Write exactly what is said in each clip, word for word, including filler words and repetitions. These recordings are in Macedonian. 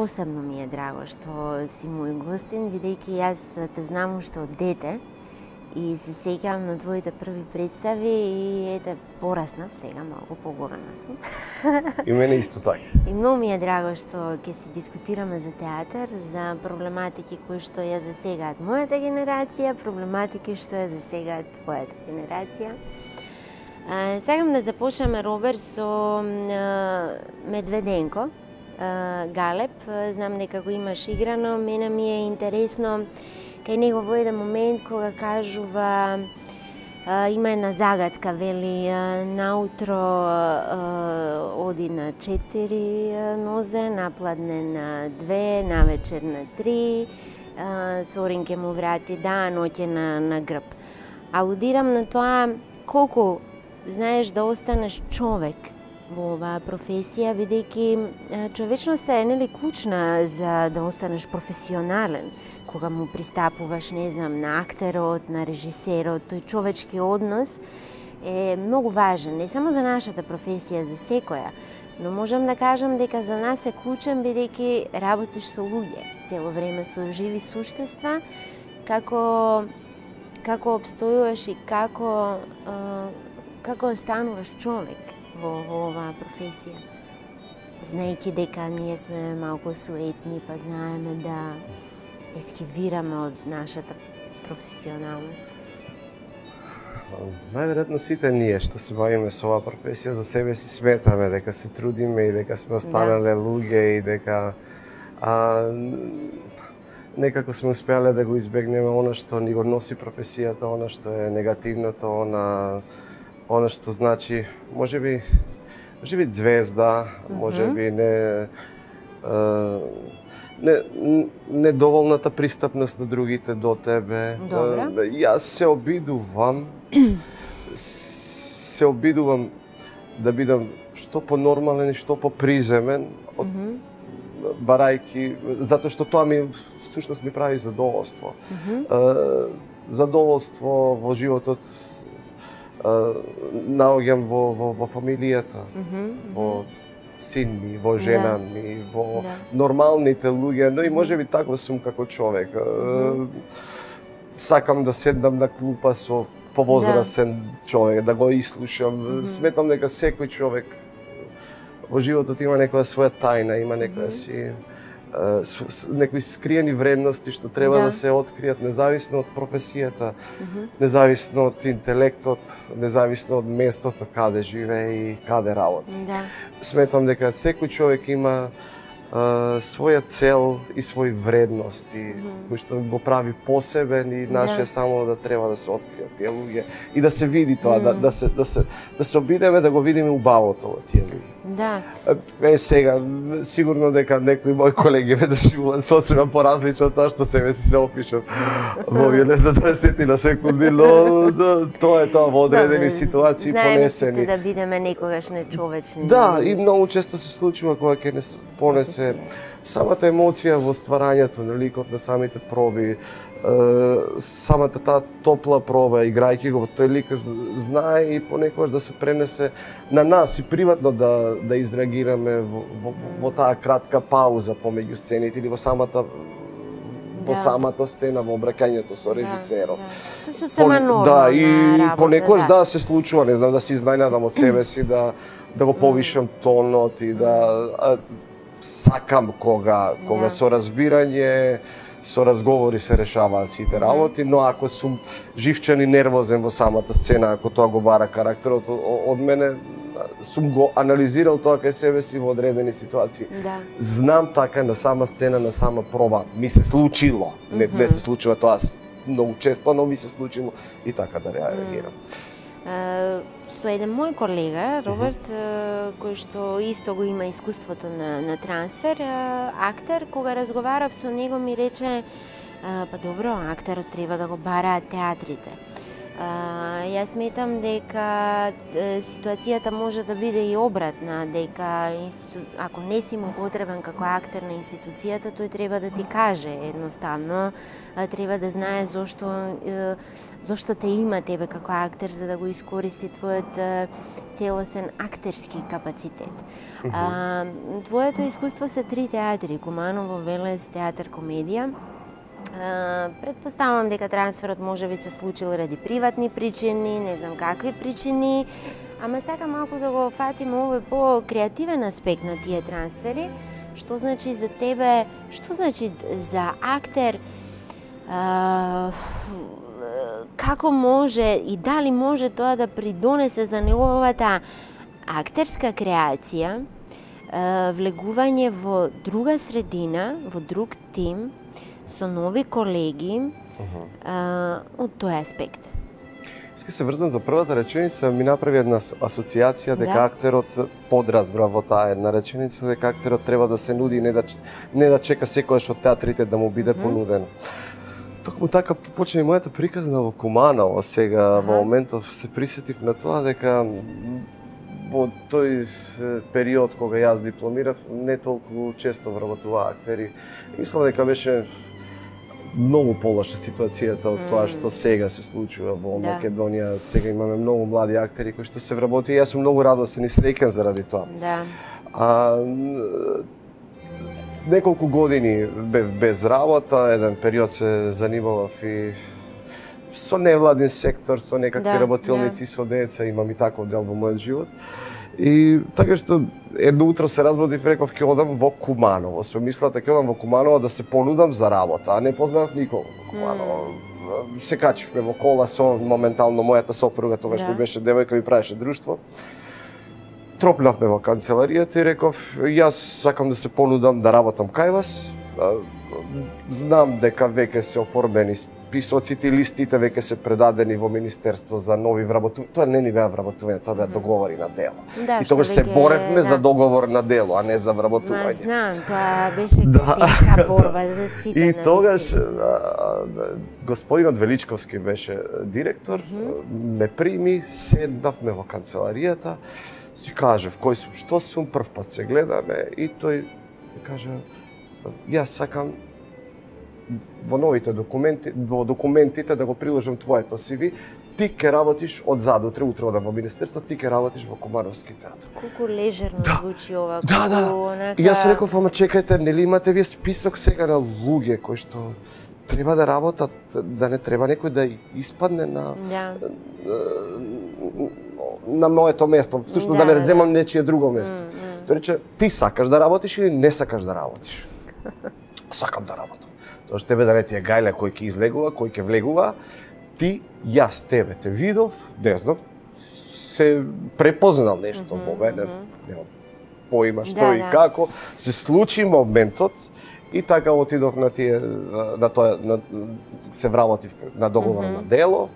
посебно ми е драго што си мој гостин, бидејќи јас те знам уште од дете и се сеќавам на твоите први представи и ете, пораснав сега, малку поголема сум. И мене исто така. И многу ми е драго што ќе се дискутираме за театар, за проблематики кои што ја засегаат мојата генерација, проблематики што ја засегаат твојата генерација. А, сакам да започнеме, Роберт, со а, Медведенко, а, Галеб. Знам дека го имаш играно, мене ми е интересно кај него во еден момент кога кажува, а, има една загадка, вели, а, наутро а, оди на четири нозе, напладне на две, навечер на три, а, Сорин ке му врати да, ноќе на, на грб. Аудирам на тоа колку знаеш да останеш човек во оваа професија, бидејќи човечноста е нели клучна за да останеш професионален. Кога му пристапуваш, не знам, на актерот, на режисерот, тој човечки однос е многу важен, не само за нашата професија, за секоја, но можам да кажам дека за нас е клучен бидејќи работиш со луѓе, цело време со живи суштества, како како обстојуваш и како како остануваш човек во, во оваа професија. Знаејќи дека ние сме малку суетни, па знаеме да ескивираме од нашата професионалност. Најверојатно сите ние што се бавиме со оваа професија за себе си сметаме дека се трудиме и дека сме останале да. луѓе и дека а, некако сме успеале да го избегнеме она што ни го носи професијата, она што е негативното, она она што значи можеби можеби звезда, можеби не а, Не, недоволната пристапност на другите до тебе. Добра. Јас се обидувам, се обидувам да бидам што понормален и што поприземен, од, mm -hmm. барајки, затоа што тоа ми всушност ми прави задоволство. Mm -hmm. Задоволство во животот наоѓам во, во, во фамилијата, mm -hmm. во син ми, во жена да. ми, во да. нормалните луѓе, но и можеби таков сум како човек. Mm -hmm. Сакам да седнам на клупа со повозрасен да. човек, да го ислушам. Mm -hmm. Сметам дека секој човек во животот има некоја своја тајна, има некоја mm -hmm. си некои скриени вредности што треба да, да се откријат независно од професијата, mm -hmm. независно од интелектот, независно од местото каде живее и каде работи. Да. Сметам дека секој човек има а, своја цел и своји вредности, mm -hmm. кои што го прави посебен и наше да. само да треба да се откријат тие луѓе и да се види тоа, mm -hmm. да, да се да се да се обидеме да го видиме убавото во тие луѓе. Да. Е сега сигурно дека некои мои колеги ме дошуваат сосема поразлично од тоа што себе си се опишам во овие не знам дваесет секунди, но да, тоа е тоа во одредени да, ситуации понесени. Знаеме да бидеме некогаш нечовечни. Да, и многу често се случува кога ќе не понесе самата емоција во стварањето на ликот, на самите проби, самата таа топла проба, играјќи го во тој лик, знае и понекогаш да се пренесе на нас и приватно да да изреагираме во, во, во таа кратка пауза помеѓу сцените или во самата во да. самата сцена, во обраќањето со режисерот. Да, да. Тоа се сема нормална да, и работа, понекогаш да. да се случува, не знам, да се изненадам од себе си, да да го повишам тонот и да а, сакам кога кога да. со разбирање, со разговори се решаваат сите работи, но ако сум живчен и нервозен во самата сцена, ако тоа го бара карактерот од мене, сум го анализирал тоа кај себе си во одредени ситуации. Да. Знам така на сама сцена, на сама проба, ми се случило. Не, mm -hmm. не се случува тоа многу често, но ми се случило и така да реагирам. Uh, со еден мој колега, Роберт, uh -huh. кој што исто го има искуството на, на трансфер, uh, актер, кога разговарав со него ми рече, uh, па добро, актерот треба да го бараат театрите. А, јас сметам дека ситуацијата може да биде и обратна, дека институ... ако не си му потребен како актер на институцијата, тој треба да ти каже едноставно, треба да знае зошто зошто те има тебе како актер, за да го искористи твојот целосен актерски капацитет. Uh-huh. А, твоето искуство се три театри: Куманово, Велес, театар комедија. Uh, предпоставам дека трансферот може би се случил ради приватни причини, не знам какви причини, ама сакам малку да го фатиме овој по-креативен аспект на тие трансфери. Што значи за тебе, што значи за актер, uh, како може и дали може тоа да придонесе за неговата актерска креација, uh, влегување во друга средина, во друг тим, со нови колеги, uh-huh. а, од тој аспект. Иска се врзам за првата реченица, ми направи една асоциација дека да. Актерот подразбра во таа една реченица, дека актерот треба да се нуди, не да, не да чека секојаш од театрите да му биде uh-huh. понуден. Токму така почна и мојата приказна во Куманово сега, uh-huh. во моментов се присетив на тоа дека во тој период кога јас дипломирав, не толку често вработуваа актери. Мислам дека беше многу полоша ситуацијата од тоа што сега се случува во да. Македонија. Сега имаме многу млади актери кои што се вработи и јас сум многу радосен и среќен заради тоа. Да. А, неколку години бев без работа, еден период се занимавав и со невладин сектор, со некакви да, работилници, да. Со деца, имам и таков дел во мојот живот. И така што едно утро се разбудив и реков ќе одам во Куманово. Со мислата ќе одам во Куманово да се понудам за работа, а не познавав никого во Куманово. Mm. Се качивме во кола со моментално мојата сопруга, тогаш да. Ми беше девојка, ми правеше друштво. Тропнавме во канцеларијата и реков јас сакам да се понудам да работам кај вас. Знам дека веќе се оформени списоците и листите веќе се предадени во Министерство за нови вработувања. Тоа не ни беа вработувања, тоа беа договори на дело. Да, и тогаш се боревме да. За договор на дело, а не за вработување. Ма знам, тоа беше да. Тешка борба за сите. И тогаш господинот Величковски беше директор, mm-hmm. ме прими, седнавме во канцеларијата, си кажав кој сум, што сум, прв пат се гледаме и тој ми кажа јас сакам во новите документи, во документите да го приложам твоето си ви, ти ќе работиш од задутре, утре одам во Министерство, ти ќе работиш во Кумановски театар. Колку лежерно да. Звучи ова. Да, да. Онака... И јас реков, ама чекајте, нели имате вие список сега на луѓе кои што треба да работат, да не треба некој да испадне на да. на моето место, всушност да, да не земам да. Нечие друго место. Mm, mm. Тој рече, ти сакаш да работиш или не сакаш да работиш? Сакам да работам. Тоа што тебе да не ти е гајле кој ќе излегува, кој ќе влегува, ти, јас тебе те видов, не знам, се препознал нешто mm -hmm, во мене, немам поима што да, и да. Како, се случи моментот и така отидов на тие, на тоа, на, се вработив на договор mm -hmm. на дело.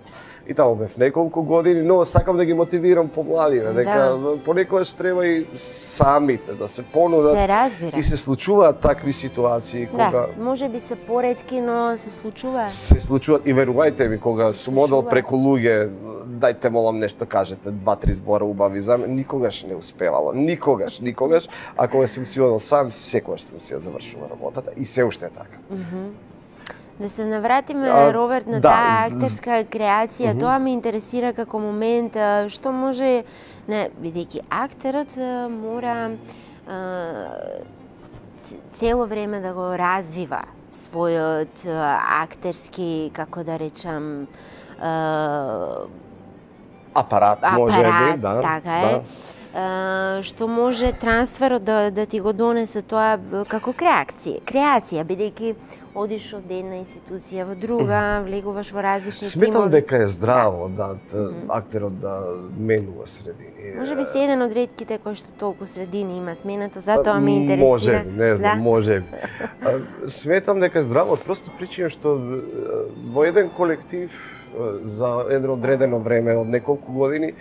И таму бев неколку години, но сакам да ги мотивирам помладиве, дека да. Понекогаш треба и самите да се понудат. Се разбира. И се случуваат такви ситуации кога да, може би се поретки, но се случуваат. Се случуваат и верувајте ми, кога сум одел преку луѓе, дајте молам нешто кажете, два-три збора убави за мене, никогаш не успевало, никогаш, никогаш, а кога сум си одел сам, секогаш сум си ја завршила работата и се уште е така. Mm -hmm. Да се навратиме, а, Роберт, на да, таа актерска креација, mm -hmm. Тоа ме интересира како момент, што може, не, бидејќи актерот мора а, цело време да го развива својот актерски, како да речам, а, апарат, може апарат, би, да. Така е. Да. Uh, што може трансферот да, да ти го донесе тоа како креација, креација, бидејќи одиш од една институција во друга, влегуваш во различни тимови. Сметам тимови. дека е здраво да, да mm -hmm. актерот да менува средини. Може би си еден од ретките кој што толку средини има сменато, затоа ме интересира. Може би, не знам, да? може би. Сметам дека е здраво, просто причина што во еден колектив за едно одредено време од неколку години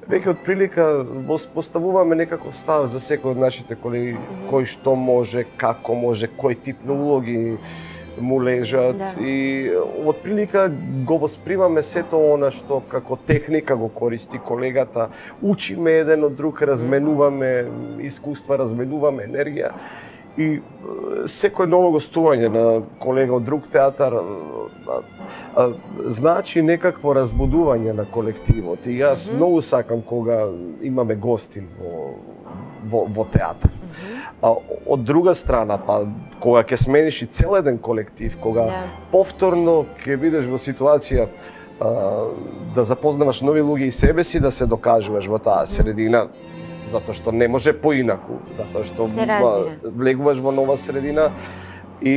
веќе од прилика поставуваме некаков став за секој од нашите колеги, mm -hmm. кој што може, како може, кој тип на улоги му лежат Да. и отприлика го воспримаме сето она што како техника го користи колегата, учиме еден од друг, разменуваме искуства, разменуваме енергија и е, секој ново гостување на колега од друг театар е, е, значи некакво разбудување на колективот и јас Мгм. многу сакам кога имаме гости во во, во театар. А од друга страна, па кога ќе смениш и цел еден колектив, кога Да. повторно ќе бидеш во ситуација а, да запознаваш нови луѓе и себе си, да се докажуваш во таа средина, затоа што не може поинаку, затоа што Се разбира. а, влегуваш во нова средина и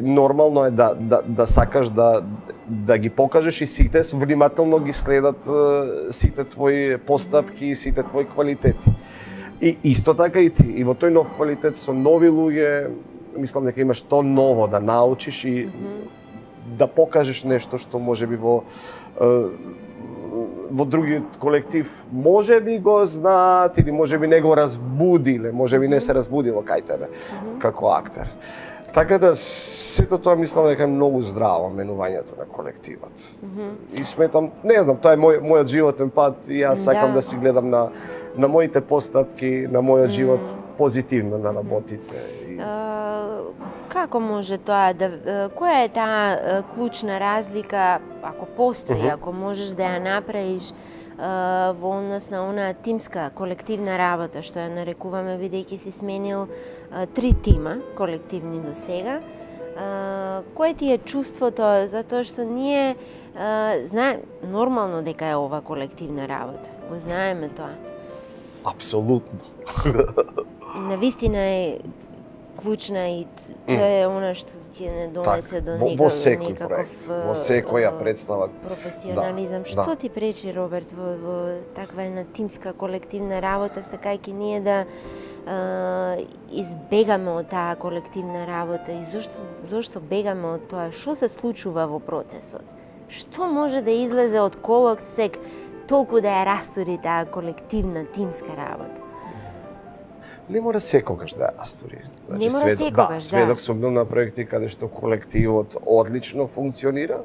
нормално е да, да, да сакаш да, да ги покажеш и сите внимателно ги следат е, сите твои постапки, сите твои квалитети. И исто така и ти, и во тој нов квалитет со нови луѓе, мислам дека имаш то ново да научиш и да покажеш нешто што можеби во е, во другиот колектив можеби го знаат или можеби не го разбудиле, можеби не се разбудило кај тебе како актер. Така да сето тоа мислам дека е многу здраво менувањето на колективот. И сметам, не знам, тоа е мој, мојот животен пат и јас сакам Да. да си гледам на на моите постапки, на мојот живот позитивно да работите. И... А, како може тоа да е, која е таа е, клучна разлика, ако постои, ако можеш да ја направиш е, во однос на онаа тимска колективна работа што ја нарекуваме, бидејќи си сменил е, три тима колективни до сега. Uh, кое ти е чувството, затоа што ние uh, знаем нормално дека е ова колективна работа. Го знаеме тоа. Апсолутно. Навистина е клучна и т- тоа е она што ќе не донесе до во, некаков, во секој некаков проект, е, во секоја е, представа. професионализам. Да, Што да. ти пречи, Роберт, во, во таква една тимска колективна работа, сакајќи ние да е, избегаме од таа колективна работа и зошто, зошто бегаме од тоа? Што се случува во процесот? Што може да излезе од колоксек толку да ја растури таа колективна тимска работа? Не мора секогаш да ја растури. Не мора секогаш, да. Сведок сум бил на проекти каде што колективот одлично функционира,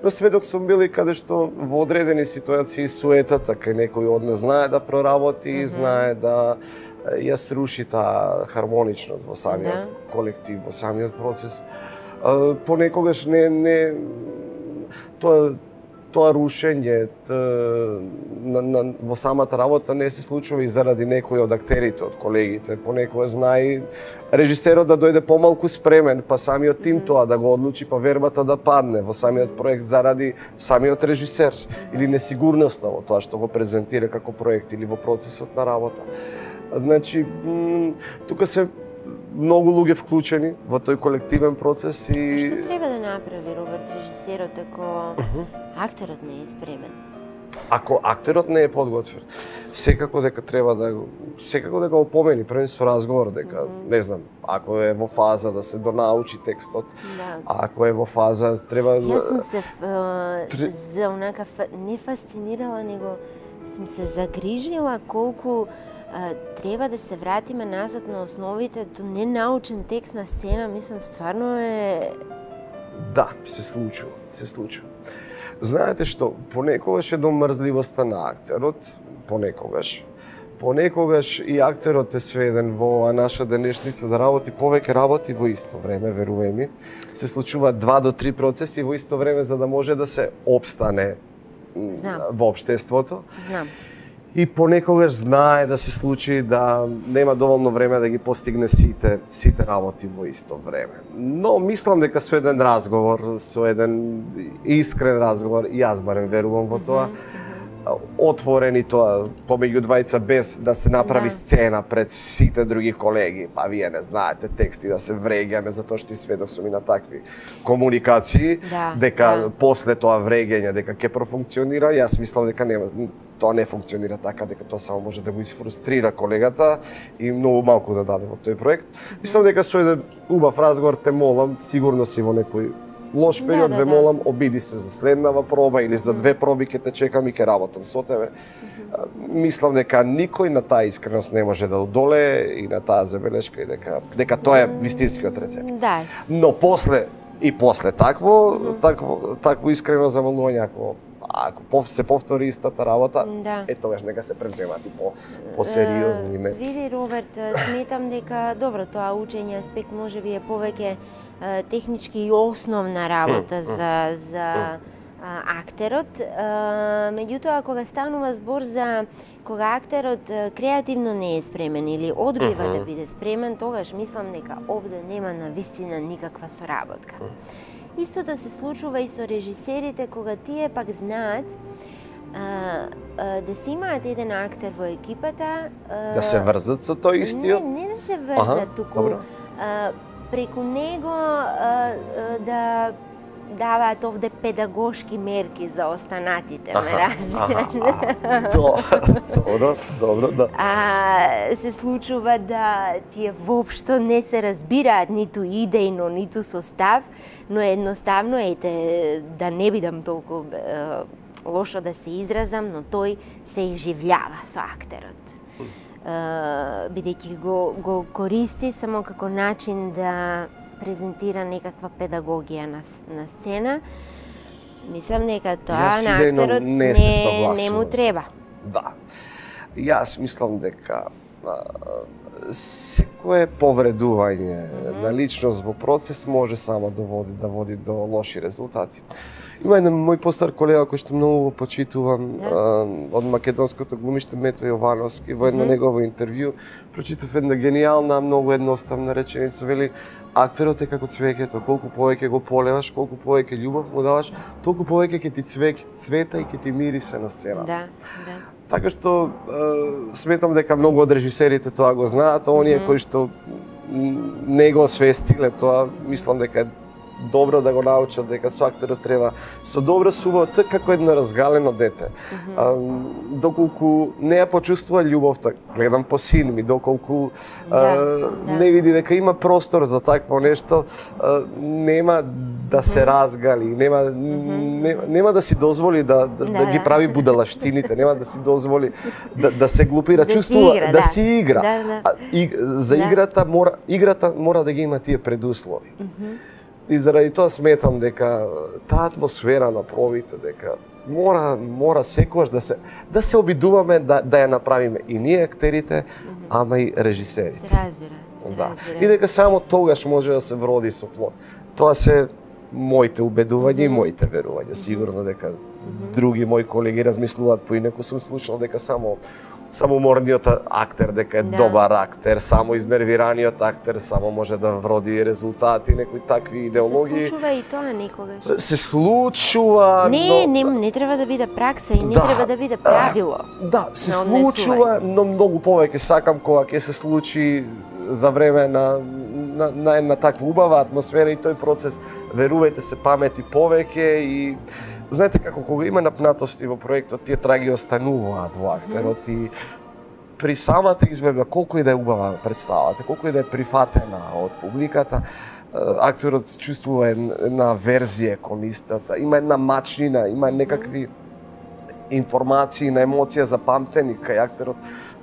но сведок сум бил и каде што во одредени ситуации суетата кај некој од нас знае да проработи, mm -hmm. знае да ја сруши таа хармоничност во самиот Да. колектив, во самиот процес. А, понекогаш не не тоа тоа рушење т, на, на, во самата работа не се случува и заради некој од актерите, од колегите. Понекогаш знае и режисерот да дојде помалку спремен, па самиот тим тоа да го одлучи, па вербата да падне во самиот проект заради самиот режисер или несигурноста во тоа што го презентира како проект или во процесот на работа. Значи, м, тука се многу луѓе вклучени во тој колективен процес и... Што треба да направи Роберт режисерот ако актерот не е спремен? Ако актерот не е подготвен, секако дека треба да го секако дека го помени пред со разговор дека mm -hmm. не знам, ако е во фаза да се донаучи текстот, Да. ако е во фаза треба Јас сум се uh, Тре- за онака фа- не фасцинирала, него сум се загрижила колку а, треба да се вратиме назад на основите до ненаучен текст на сцена, мислам стварно е да, се случува, се случува. Знаете што, понекогаш е до мрзливоста на актерот, понекогаш. Понекогаш и актерот е сведен во оваа наша денешница да работи повеќе работи во исто време, верувај ми. Се случуваат два до три процеси во исто време за да може да се обстане м, Знам. во општеството. знам. И понекогаш знае да се случи да нема доволно време да ги постигне сите сите работи во исто време. Но мислам дека со еден разговор, со еден искрен разговор, и јас барем верувам во тоа, отворени тоа помеѓу двајца без да се направи Да. сцена пред сите други колеги, па вие не знаете тексти да се вреѓаме затоа што и сведок сум и на такви комуникации, Да, дека да. после тоа вреѓање дека ќе профункционира, јас мислам дека нема тоа не функционира така, дека тоа само може да го изфрустрира колегата и многу малку да даде во тој проект. Мислам дека со еден убав разговор те молам, сигурно си во некој лош Да, период, да, ве да. молам, обиди се за следнава проба или за две проби ќе те чекам и ќе работам со тебе. А, Мислам дека никој на таа искреност не може да одолее и на таа забелешка и дека дека тоа е вистинскиот рецепт. Да. Но после И после такво, mm -hmm. такво, такво искрено замолување, ако ако се повтори истата работа, да. Е тогаш нека се превземат и по посериозни мерки. Види, Роберт, сметам дека добро, тоа учење аспект можеби е повеќе технички и основна работа mm -hmm. за за mm -hmm. актерот. Меѓутоа, кога станува збор за кога актерот креативно не е спремен или одбива mm -hmm. да биде спремен, тогаш мислам дека овде нема навистина никаква соработка. Mm -hmm. Истото се случува и со режисерите, кога тие пак знаат а, а, да се имаат еден актер во екипата. А, да се врзат со тој истиот? Не, не да се врзат, туку а, преку него а, а, да даваат овде педагошки мерки за останатите, ме разбираш? Добро, добро, да. А, се случува да тие воопшто не се разбираат ниту идејно, ниту со став, но едноставно, ете, да не бидам толку е, лошо да се изразам, но тој се изживljava со актерот. Uh, бидејќи го, го користи само како начин да презентира некаква педагогија на, на сцена. Мислам дека тоа на актерот не, не, не му треба. Да. Јас мислам дека а, секое повредување mm -hmm. на личност во процес може само да води, да води до лоши резултати. Има еден мој постар колега кој што многу го почитувам, да. а, од македонското глумиште Мето Јовановски, во едно mm -hmm. негово интервју прочитав една генијална, многу едноставна реченица, вели: актерот е како цвеќето, колку повеќе го полеваш, колку повеќе љубов му даваш, толку повеќе ќе ти цвек, цвета и ќе ти мирисе на сцената. Да, да. Така што е, сметам дека многу од режисерите тоа го знаат, а оние mm -hmm. кои што не го освестиле тоа, мислам дека е добро да го научат дека со актерот треба со добра субава, тоа како едно разгалено дете. Mm -hmm. а, доколку не ја почувствува љубовта, гледам по син ми, доколку да, а, да. не види дека има простор за такво нешто, а, нема да се mm -hmm. разгали, нема, mm -hmm. не, нема да си дозволи да, да, да, да ги прави будалаштините, нема да си дозволи да, да се глупира, да чувствува, си игра, да, да си игра. Да, да. А, и, за да. играта мора играта мора да ги има тие предуслови. Mm -hmm. И заради тоа сметам дека таа атмосфера на пробите, дека мора мора секогаш да се да се обидуваме да да ја направиме и ние актерите, mm -hmm. ама и режисерите. Се разбира, се да. разбира. И дека само тогаш може да се вроди со плод. Тоа се моите убедувања mm -hmm. и моите верувања. Сигурно дека mm -hmm. други мои колеги размислуваат поинаку, сум слушал дека само само морниот актер дека е да. добар актер, само изнервираниот актер само може да вроди резултати, некои такви идеологии. Се случува и тоа некогаш. Се случува, не, но... не, не треба да биде пракса и не да, треба да биде правило. Да, се случува, но многу повеќе сакам кога ќе се случи за време на, на, на една таква убава атмосфера и тој процес, верувајте се, памети повеќе и знаете како кога има напнатости во проектот, тие траги остануваат во актерот mm -hmm. и при самата изведба, колку и да е убава представата, колку и да е прифатена од публиката, актерот чувствува една верзија кон истата, има една мачнина, има некакви информации на емоција запамтени кај актерот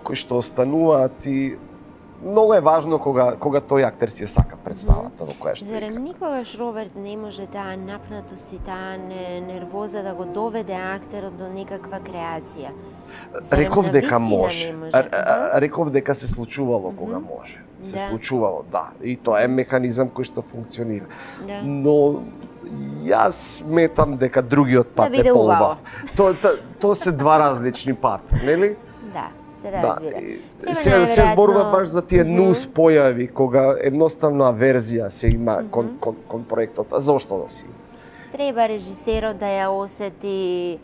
кои што остануваат и многу е важно кога кога тој актер си сака представата во која што игра. Зарем никогаш Роберт не може таа напнатост и таа нервоза да го доведе актерот до некаква креација? Зарем Реков дека може. може. Реков дека се случувало mm -hmm. кога може. Се да. случувало, да. И тоа е механизам кој што функционира. Да. Но јас сметам дека другиот пат да е поубав. Тоа то, то се два различни пати, нели? Да. Се разбира. Да, се, се зборува баш за тие mm -hmm. нус појави кога едноставно аверзија се има mm -hmm. кон, кон, кон проектот. А зошто да си? Треба режисерот да ја осети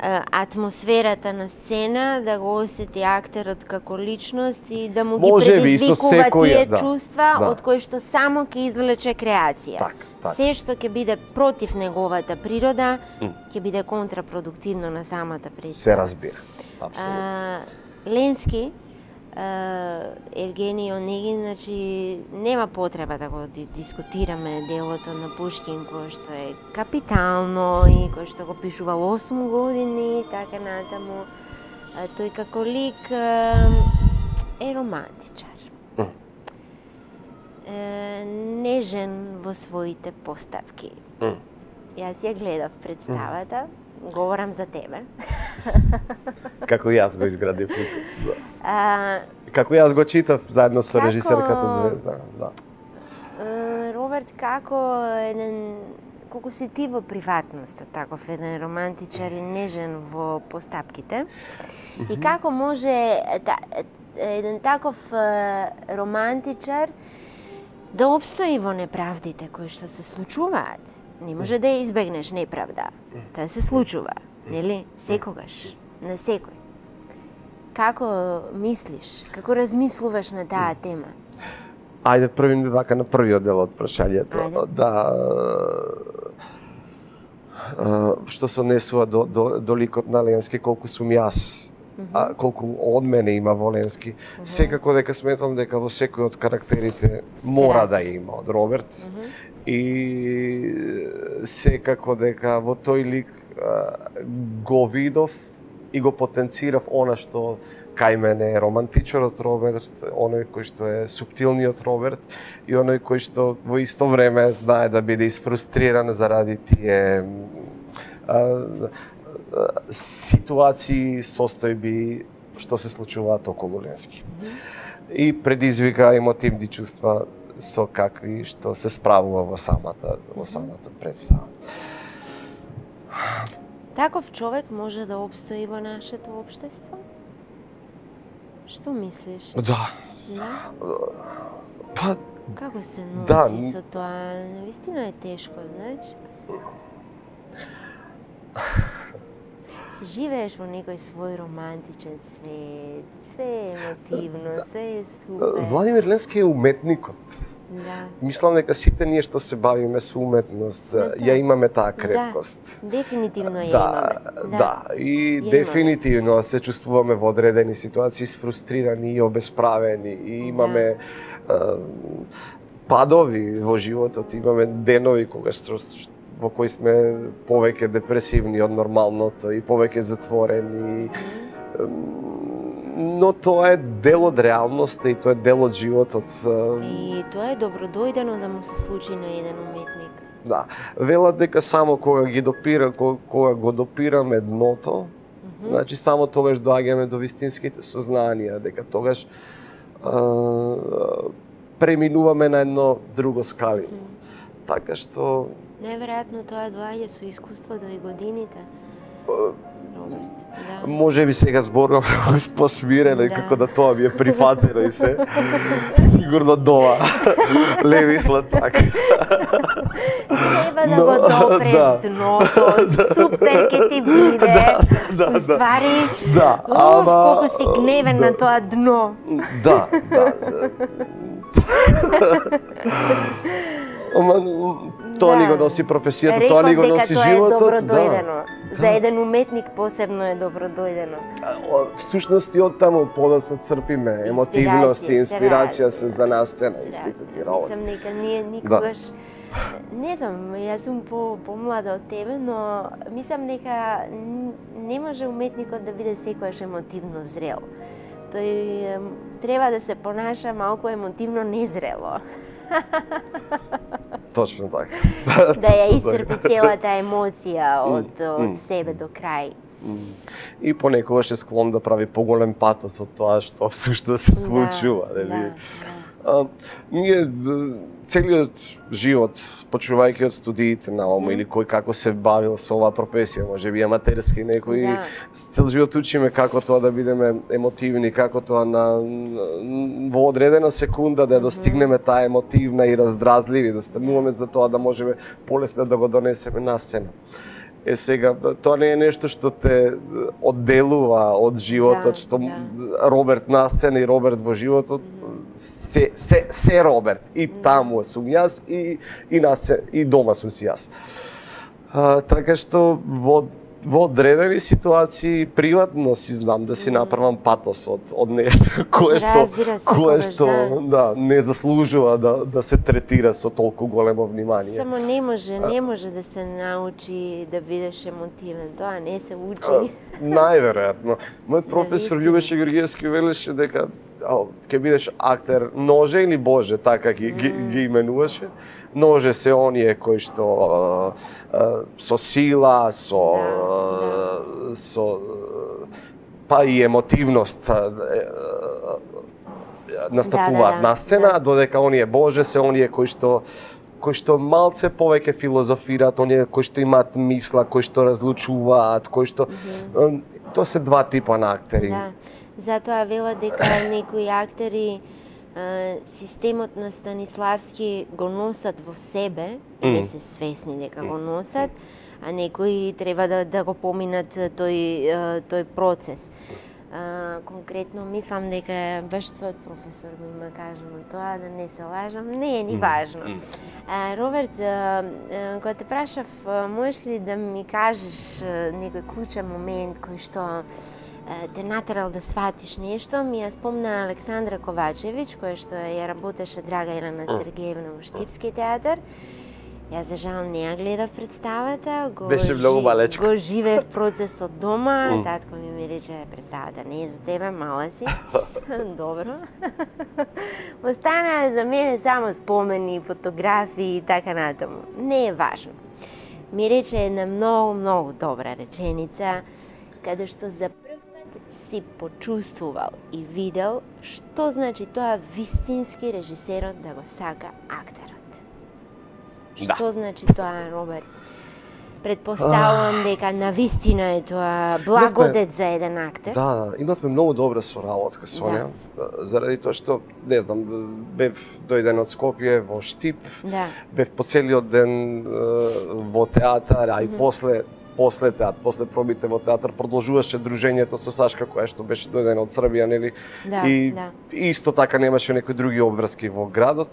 а, атмосферата на сцена, да го осети актерот како личност и да му ги предизвикува тие да, чувства да. од кои што само ќе извлече креација. Так, так. Се што ќе биде против неговата природа, mm. ќе биде контрапродуктивно на самата представа. Се разбира. А, Ленски, а, Евгений Онегин, значи нема потреба да го дискутираме делото на Пушкин кој што е капитално и кој што го пишувал осум години и така натаму. А, тој како лик а, е романтичар. Mm. е, нежен во своите постапки. Mm. Јас ја гледав представата, mm. говорам за тебе. Како јас го изградив ликот. Да. А, Како јас го читав заедно со како... режисерката Звезда. Да. Роберт, како еден колку си ти во приватноста, таков еден романтичар и нежен во постапките, mm-hmm. и како може та, еден таков романтичар да обстои во неправдите кои што се случуваат. Не може да ја избегнеш неправда. Таа се случува, нели? Секогаш, на секој. Како мислиш, како размислуваш на таа тема? Ајде, први вака на првиот дел од прашањето. Да, што се однесува до, до, до ликот на Ленски, колку сум јас, mm-hmm. а, колку од мене има во Ленски. Mm-hmm. Секако дека сметам дека во секој од карактерите мора да има од Роберт. Mm-hmm. И секако дека во тој лик а, го видов и го потенцирав она што кај мене е романтичарот Роберт, оној кој што е суптилниот Роберт и оној кој што во исто време знае да биде изфрустриран заради тие а, а, ситуации, состојби што се случуваат околу Ленски. И предизвика емотивни чувства со какви што се справува во самата во самата представа. Таков човек може да обстои во нашето општество? Што мислиш? Да. Да? Па како се носи да, со тоа? Навистина е тешко, знаеш? Се живееш во некој свој романтичен свет, све е емотивно, све е супер. Владимир Ленски е уметникот. Да. Мислам дека сите ние што се бавиме со уметност, да, ја имаме таа кревкост. Да, дефинитивно ја да, имаме. Да, да, и ја дефинитивно имаме. Се чувствуваме во одредени ситуации сфрустрирани и обесправени и имаме да. е, падови во животот, имаме денови кога што во кои сме повеќе депресивни од нормалното и повеќе затворени. Но тоа е дел од реалноста и тоа е дел од животот. И тоа е добродојдено да му се случи на еден уметник. Да, велат дека само кога ги допира, кога го допираме дното, mm-hmm. значи само тогаш доаѓаме до вистинските сознанија, дека тогаш а, преминуваме на едно друго скалино. Mm-hmm. Така што неверојатно тоа доаѓа со искуството и годините. Роберт, да. Може би сега зборувам посмирено и да. како да тоа ми е прифатено и се. Сигурно дова. Леви слатак. Треба да го допреш да. Дното, супер ке ти биде. Да, да, да. Уствари, да. уф, Ама... колку си гневен да. На тоа дно. Да, да. Ама тоа да. ни го носи професијата, Реков тоа ни го носи дека животот. Тоа е добродојдено. Да. За еден уметник посебно е добродојдено. Всушност и од таму подоцна црпиме емотивност и инспирација се за насцена истите ти работи. Мислам дека ние никогаш да. Не знам, јас сум по помлада од тебе, но мислам дека не може уметникот да биде секојаш емотивно зрел. Тој треба да се понаша малку емотивно незрело. Точно така. Да ја исцрпи целата емоција од, од mm. себе до крај. Mm. И понекогаш е склон да прави поголем патос од тоа што всушност се случува. Да, да, да. А, ние целиот живот, почнувајќи од студиите на ОМО mm. или кој како се бавил со оваа професија, може би аматерски некој, да. Цел живот учиме како тоа да бидеме емотивни, како тоа на, во одредена секунда да достигнеме таа емотивна и раздразливи, да стануваме за тоа да можеме полесно да го донесеме на сцена. Е сега, тоа не е нешто што те одделува од животот, да, што да. Роберт на сцена и Роберт во животот, се, се, се Роберт. И таму сум јас, и, и, на сцена, и дома сум си јас. А, така што во во одредени ситуации приватно си знам да си направам патос од од нешто кое што кое што да не заслужува да да се третира со толку големо внимание. Само не може, не може да се научи да бидеш емотивен, тоа не се учи. Најверојатно. Мојот професор Љубеше Георгиевски велеше дека ќе бидеш актер ноже или боже, така ги, ги, ги именуваше. Ноже се оние кои што а, а, со сила, со да, да. со па и емотивност а, а, настапуваат да, да, да. на сцена, да. Додека оние боже се оние кои што кои што малце повеќе филозофираат, оние кои што имаат мисла, кои што разлучуваат, кои што mm-hmm. тоа се два типа на актери. Да. Затоа велат дека некои актери системот на Станиславски го носат во себе и не се свесни дека го носат, а некои треба да, да го поминат тој, тој процес. А, конкретно мислам дека баш твојот професор го има кажано тоа, да не се лажам, не е ни важно. А, Роберт, а, а, кога те прашав, можеш ли да ми кажеш некој клучен момент кој што те натерал да сватиш нешто, ми ја спомна Александра Ковачевиќ, која што ја работеше Драга Елена Сергеевна во Штипски театар. Ја за жал не ја гледав представата, го, беше многу малечка. Го живеев процесот дома, mm. татко ми ми рече, представата не е за тебе, мала си. Добро. Остана за мене само спомени, фотографии и така натаму. Не е важно. Ми рече една многу, многу добра реченица, каде што за си почувствувал и видел што значи тоа вистински режисерот да го сака актерот. Што да. значи тоа, Роберт? Предпоставувам дека навистина е тоа благодет за еден актер. Да, имавме многу добра соработка со неа, да. заради тоа што, не знам, бев дојден од Скопје во Штип, да. бев по целиот ден во театар, а и mm-hmm. после после театар, после пробите во театар продолжуваше дружењето со Сашка која што беше дојдена од Србија, нели? Да, и да. исто така немаше некои други обврски во градот.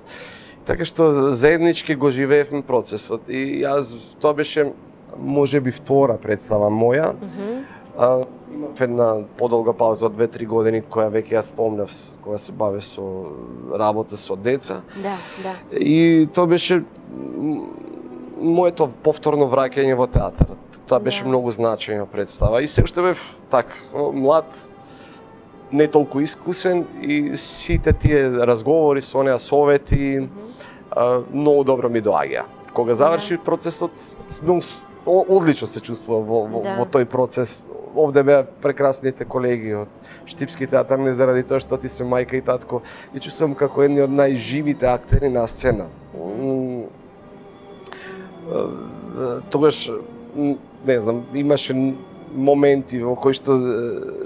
Така што заеднички го живеевме процесот и јас тоа беше можеби втора представа моја. Mm-hmm. а, имав една подолга пауза од две-три години која веќе ја спомнав кога се баве со работа со деца. Да, да. И тоа беше моето повторно враќање во театарот. Тоа беше да. многу значајна представа и се уште бев так млад, не толку искусен и сите тие разговори со неа, совети, mm-hmm. многу добро ми доаѓаа. Кога заврши да. процесот, многу одлично се чувствува во, во, да. во тој процес. Овде беа прекрасните колеги од Штипски театар, не заради тоа што ти се мајка и татко, и чувствувам како едни од најживите актери на сцена. Mm. Тогаш, не знам, имаше моменти во кои што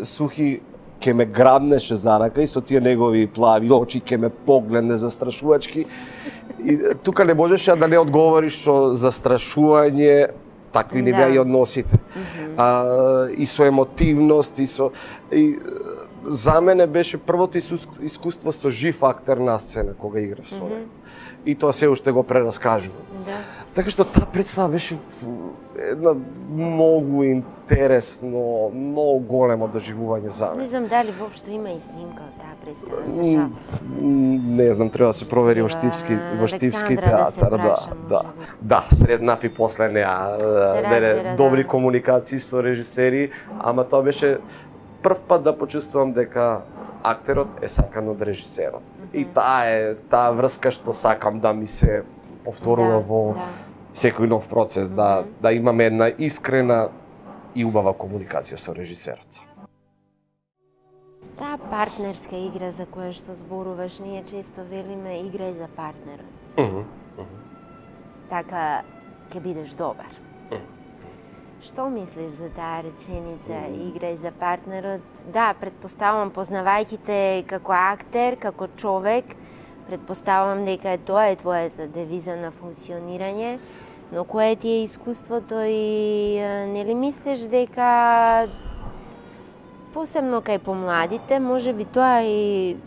Сухи ке ме грабнеше за рака и со тие негови плави очи ке ме погледне застрашувачки. И тука не можеше да не одговориш со застрашување, такви не беа да. и односите. Mm-hmm. А, и со емотивност, и со... И, за мене беше првото искуство со жив актер на сцена, кога играв со него. Mm-hmm. И тоа се уште го прераскажувам. Да. Така што таа представа беше една многу интересно, многу големо доживување за мене. Не знам дали воопшто има и снимка од таа представа, за жалост. Не знам, треба да се провери во Штипски, во Штипски театар, да, да. Да, среднав и после неа разбира, добри да. комуникации со режисери, ама тоа беше прв пат да почувствувам дека актерот е сакан од режисерот. Mm-hmm. И таа е таа врска што сакам да ми се повторува да, во да. секој нов процес, mm-hmm. да да имаме една искрена и убава комуникација со режисерот. Таа партнерска игра за која што зборуваш, ние често велиме играј за партнерот. Mm-hmm. Mm-hmm. Така ќе бидеш добар. Mm-hmm. Што мислиш за таа реченица, играј за партнерот? Да, предпоставувам, познавајќи те како актер, како човек, предпоставувам дека тоа е твојата девиза на функционирање, но кое ти е искуството и нели мислиш дека посебно кај помладите, може би тоа и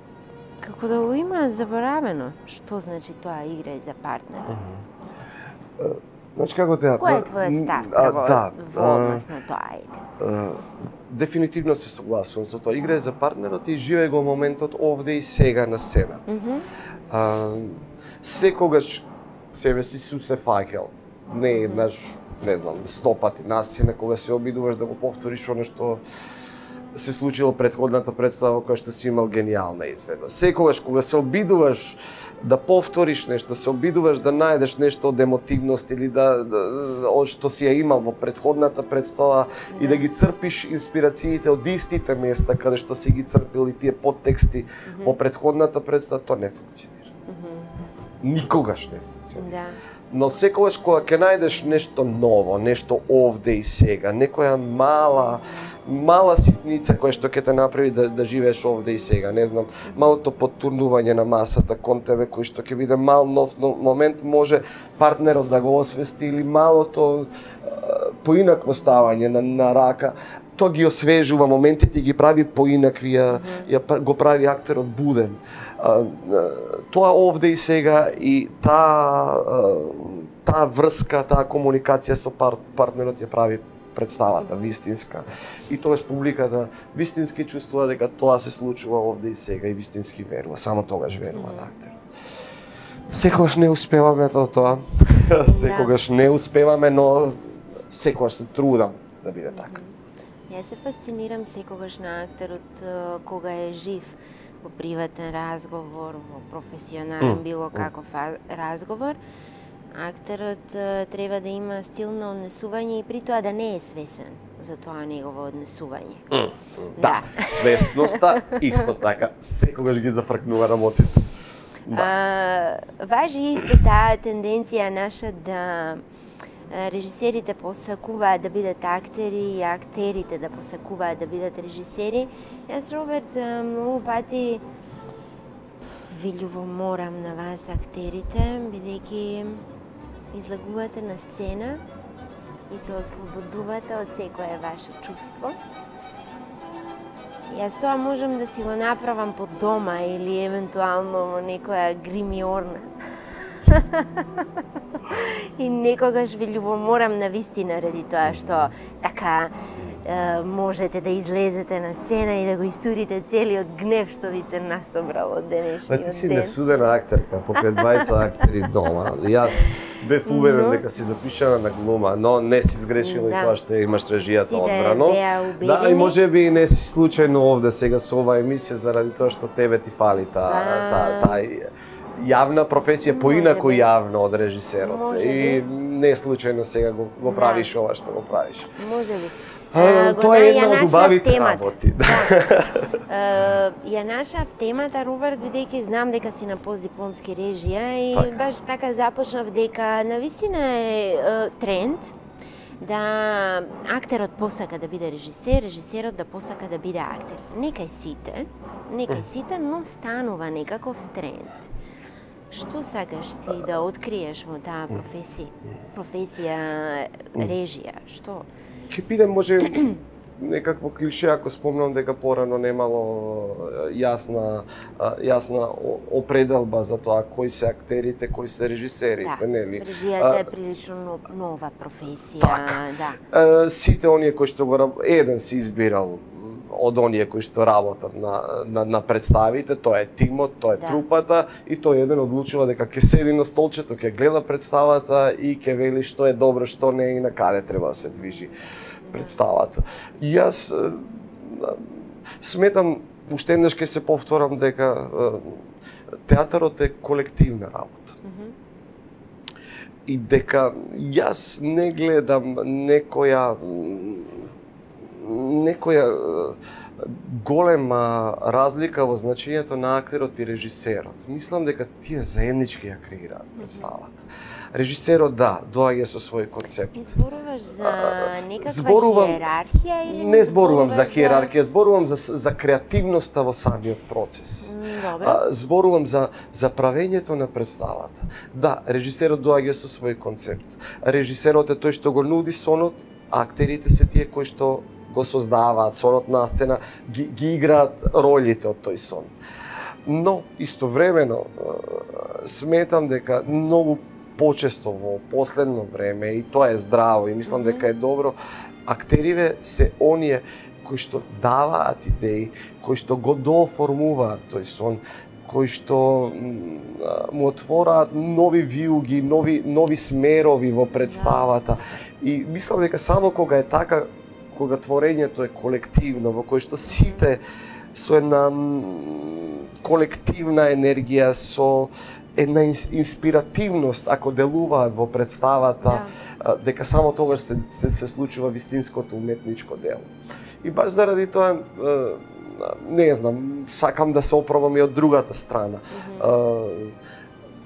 како да го имаат заборавено. Што значи тоа играј за партнерот? Значи како театар? Кој е твојот став прво да, во однос на тоа, ајде? Дефинитивно се согласувам со тоа. Играе за партнерот и живее го моментот овде и сега на сцената. Mm -hmm. а, секогаш себе си су се фаќал. Не еднаш, не знам, сто пати на сцена кога се обидуваш да го повториш оно што се случило предходната представа која што си имал гениална изведба. Секогаш кога се обидуваш да повториш нешто, се обидуваш да најдеш нешто од емотивност или да, да од што си ја имал во предходната представа и да ги црпиш инспирациите од истите места каде што си ги црпил и тие подтексти mm -hmm. во предходната представа, тоа не функционира. Mm -hmm. Никогаш не функционира. Да. Но секогаш кога ќе најдеш нешто ново, нешто овде и сега, некоја мала мала ситница која што ќе те направи да, да живееш овде и сега, не знам, малото потурнување на масата кон тебе кој што ќе биде мал нов момент, може партнерот да го освести или малото поинакво ставање на, на рака, тоа ги освежува моментите и ги прави поинакви, ја, ја го прави актерот буден. Тоа овде и сега и таа таа врска, таа комуникација со пар, партнерот ја прави представата вистинска. И тогаш публиката вистински чувствува дека тоа се случува овде и сега и вистински верува, само тогаш верува на актерот. Секогаш не успеваме тоа, секогаш не успеваме, но секогаш се трудам да биде така. Јас се фасцинирам секогаш на актерот кога е жив во приватен разговор, во професионален mm. било каков разговор. Актерот треба да има стил на однесување и при тоа да не е свесен за тоа негово однесување. Mm. Да, да. Свесноста исто така секогаш ги зафркнува работите. Да. А, важи исто таа тенденција наша да режисерите посакуваат да бидат актери и актерите да посакуваат да бидат режисери. Јас, Роберт, многу пати ви љубоморам на вас актерите, бидејќи излагувате на сцена и се ослободувате од секое ваше чувство. Јас тоа можам да си го направам под дома или евентуално во некоја гримиорна. И некогаш ви љубоморам на вистина ради тоа што така е, можете да излезете на сцена и да го истурите целиот гнев што ви се насобрал од денешниот ден. Ти си несудена актерка, покрај двајца актери дома. Јас бев уведен но... дека си запишана на глума, но не си сгрешила да. И тоа што имаш режијата одбрано. Да, и може би не си случајно овде сега со оваа емисија заради тоа што тебе ти фали таа та, та, јавна професија, поинаку јавна од режисерот. И не случајно сега го, го правиш да. Ова што го правиш. Може би. А, тоа е една од убавите работи. Да. Ја нашав темата, Роберт, бидејќи знам дека си на постдипломски режија и така. Баш така започнав дека навистина е тренд да актерот посака да биде режисер, режисерот да посака да биде актер. Некај сите, некај сите, но станува некаков тренд. Што сакаш ти да откриеш во таа професија? Професија режија, што? Ќе бидем може некакво клише ако спомнам дека порано немало јасна јасна определба за тоа кои се актерите, кои се режисерите, да, нели? Режијата е прилично нова професија, так. Да. Сите оние кои што го еден си избирал од оние кои што работат на, на, на представите, тоа е тимот, тоа е да. Трупата и тој еден одлучува дека ќе седи на столчето, ќе гледа представата и ќе вели што е добро, што не и на каде треба да се движи представата. И јас сметам, уште еднаш ќе се повторам дека театарот е колективна работа. Mm-hmm. И дека јас не гледам некоја некоја голема разлика во значењето на актерот и режисерот. Мислам дека тие заеднички ја креираат представата. Режисерот, да, доаѓа со свој концепт. Не зборуваш за некаква зборувам, хиерархија или не зборувам за хиерархија, зборувам за за креативноста во самиот процес. Добре. Зборувам за за правењето на представата. Да, режисерот доаѓа со свој концепт. Режисерот е тој што го нуди сонот, актерите се тие кои што го создаваат сонот на сцена, ги, ги играат ролите од тој сон. Но истовремено сметам дека многу почесто во последно време, и тоа е здраво и мислам дека е добро, актериве се оние кои што даваат идеи, кои што го дооформуваат тој сон, кои што му отвораат нови виуги, нови нови смерови во представата. И мислам дека само кога е така, кога творењето е колективно, во кој што сите со една колективна енергија, со една инспиративност, ако делуваат во представата, да. дека само тогаш се, се, се случува вистинското уметничко дело. И баш заради тоа, не знам, сакам да се опробам и од другата страна. Mm-hmm.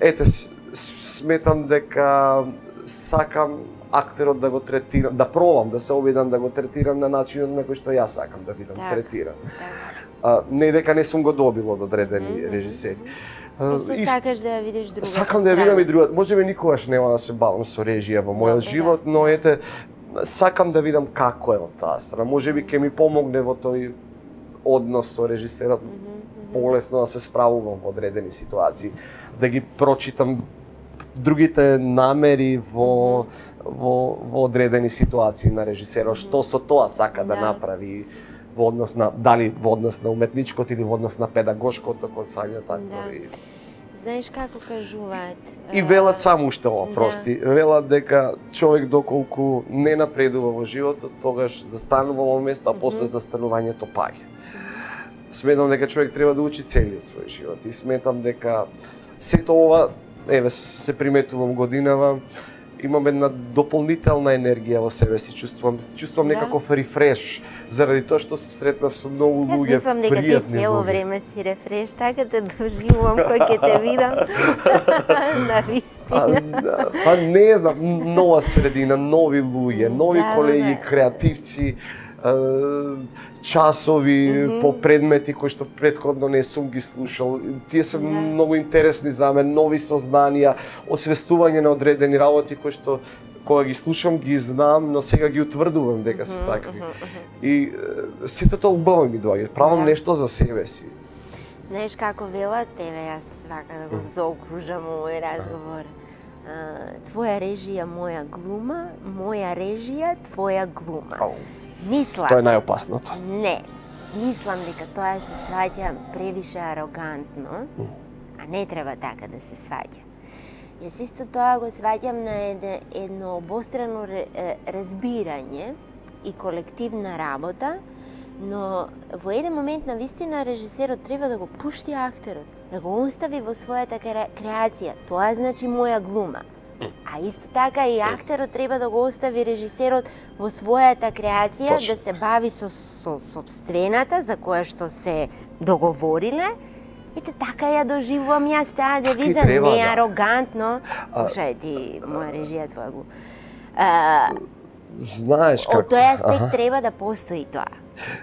Ете, сметам дека сакам актерот да го третирам, да пробам, да се обидам да го третирам на начинот на кој што јас сакам да бидам так, третиран. Так. Не дека не сум го добил од одредени mm-hmm. режисери. Просто и, сакаш да ја видиш другата Сакам да ја видам и другата. Можеби никогаш нема да се бавам со режија во мојот Добре, живот, да. но ете, сакам да видам како е од таа страна. Можеби ќе ми помогне во тој однос со режисерот mm -hmm. полесно да се справувам во одредени ситуации, да ги прочитам другите намери во mm -hmm. во во одредени ситуации на режисерот, mm -hmm. што со тоа сака да, да направи во однос на дали во однос на уметничкото или во однос на педагошкото консања актори. Да. Знаеш како кажуваат? И велат само уште ова, прости. Да. Велат дека човек доколку не напредува во животот, тогаш застанува во место, а после mm -hmm. застанувањето паѓа. Сметам дека човек треба да учи целиот свој живот и сметам дека сето ова, еве се приметувам годинава, имам една дополнителна енергија во себе си, чувствувам, чувствувам да. некаков рефреш, заради тоа што се сретнав со многу луѓе, пријатни луѓе. Јас мислам дека ти цело време си рефреш, така да доживувам кој ќе те видам на вистина. Па не знам, нова средина, нови луѓе, нови да, колеги, да. креативци, часови mm -hmm. по предмети кои што претходно не сум ги слушал. Тие се yeah. многу интересни за мене, нови сознанија, освестување на одредени работи кои што кога ги слушам ги знам, но сега ги утврдувам дека се такви. Mm -hmm. И сите тоа убаво ми доаѓа. Правам yeah. нешто за себе си. Знаеш како велат, еве јас вака да го заокружам овој разговор. Твоја режија, моја глума, моја режија, твоја глума. Oh. Мислам. Тоа е најопасното. Не. Мислам дека тоа се сваќа превише арогантно, mm. а не треба така да се сваќа. Јас исто тоа го сваќам на едно, едно обострано разбирање и колективна работа, но во еден момент на вистина режисерот треба да го пушти актерот, да го остави во својата креација. Тоа значи моја глума. А исто така и актерот треба да го остави режисерот во својата креација, Точно. да се бави со, со собствената за која што се договориле. Ете така ја доживувам јас таа девиза, треба, не да. арогантно. Слушај ти, моја режија, твоја го. А, Знаеш како? Од тој аспект Аха. треба да постои тоа.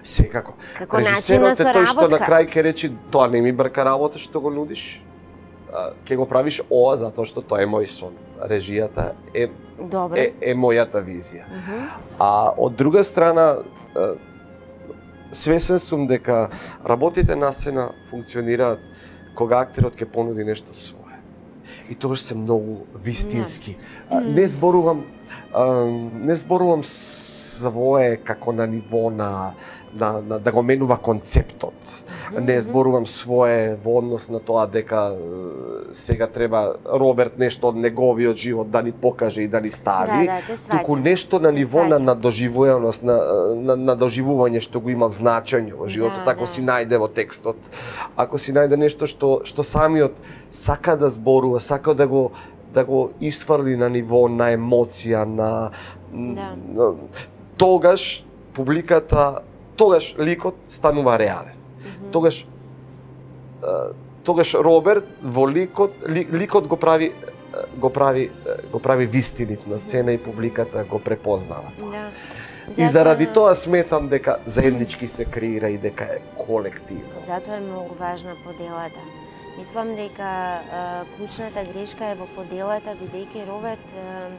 Секако. Како начин на соработка. Режисерот е тој што на крај ќе речи, тоа не ми брка работа што го нудиш. Ќе го правиш ова затоа што тоа е мој сон. Режијата е, е, е мојата визија. Uh -huh. А од друга страна, свесен сум дека работите на сцена функционираат кога актерот ќе понуди нешто свое. И тогаш се многу вистински. Yeah. Не зборувам не зборувам свое како на ниво на На, на, да го менува концептот. Mm -hmm. Не зборувам свое во однос на тоа дека сега треба Роберт нешто од неговиот живот да ни покаже и да ни стави, да, да, туку нешто на ниво на, на доживуваност, на, на, на доживување што го има значење во животот, да, ако да. си најде во текстот, ако си најде нешто што, што самиот сака да зборува, сака да го да го исфрли на ниво на емоција, на, да. на тогаш публиката тогаш ликот станува реален. Mm -hmm. Тогаш тогаш Роберт во ликот ли, ликот го прави го прави го прави вистинит на сцена и публиката го препознава тоа. Да. Затоа... И заради тоа сметам дека заеднички се креира и дека е колективно. Затоа е многу важна поделата. Мислам дека а, клучната грешка е во поделата, бидејќи Роберт а,